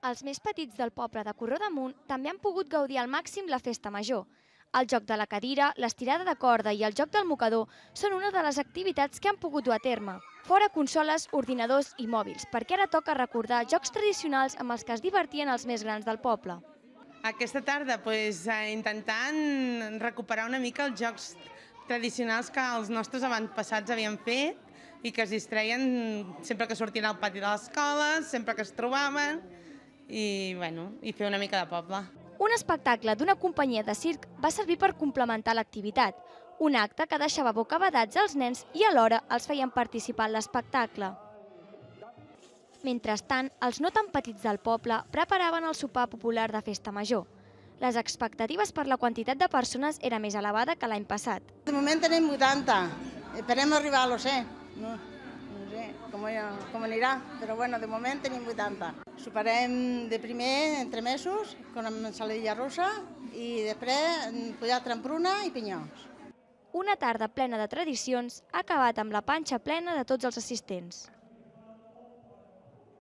Els més petits del poble de Corró d'Amunt també han pogut gaudir al màxim la festa major. El joc de la cadira, l'estirada de corda i el joc del mocador són una de les activitats que han pogut dur a terme. Fora consoles, ordinadors i mòbils, perquè ara toca recordar jocs tradicionals amb els que es divertien els més grans del poble. Aquesta tarda intentant recuperar una mica els jocs tradicionals que els nostres avantpassats havien fet i que es distreien sempre que sortien al pati de l'escola, sempre que es trobaven i fer una mica de poble. Un espectacle d'una companyia de circ va servir per complementar l'activitat, un acte que deixava bocabadats als nens i alhora els feien participar en l'espectacle. Mentrestant, els no tan petits del poble preparaven el sopar popular de festa major. Les expectatives per la quantitat de persones era més elevada que l'any passat. De moment tenim 80, esperem arribar a l'100. No sé com anirà, però bueno, de moment tenim 80. Soparem de primer entre mesos, amb ensaladilla russa, i després pollastre amb pruna i pinyols. Una tarda plena de tradicions ha acabat amb la panxa plena de tots els assistents.